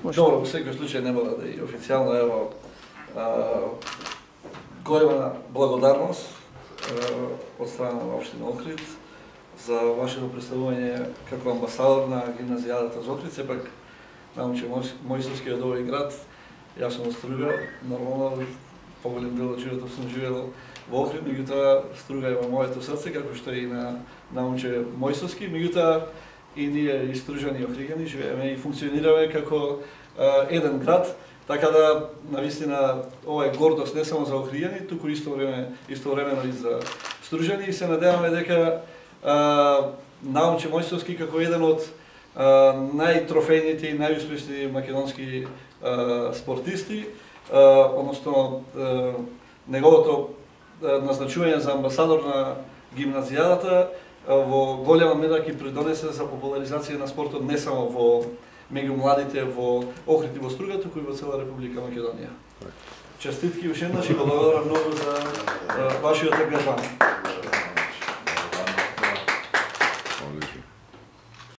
Добро, во секој случај не мора да и официјално ево голема благодарност од страна на општина Охрид за вашето представување како амбасадор на гимназијадата за Охрид. Сепак научи Мојсовски од овој град, јас сум од Струга, нормално поголем дел од животот сум живеел во Охрид, меѓутоа Струга е во моето срце, како што и на научи Мојсовски, меѓутоа и ние и Стружани и Охриѓани живееме и функционираме како еден град, така да навистина ова е гордост не само за Охриѓани, туку истовремено и за Стружани, и се надеваме дека Наумче Мојсовски како еден од најтрофејните и најуспешни македонски спортисти, односно неговото назначување за амбасадор на гимназијадата во голема мера ќе придонесе за популаризација на спортот не само во меѓу младите во Охрид и во Струга, туку и во цела Република Македонија. Честитки уште еднаш и благодарам многу за вашиот ангажман.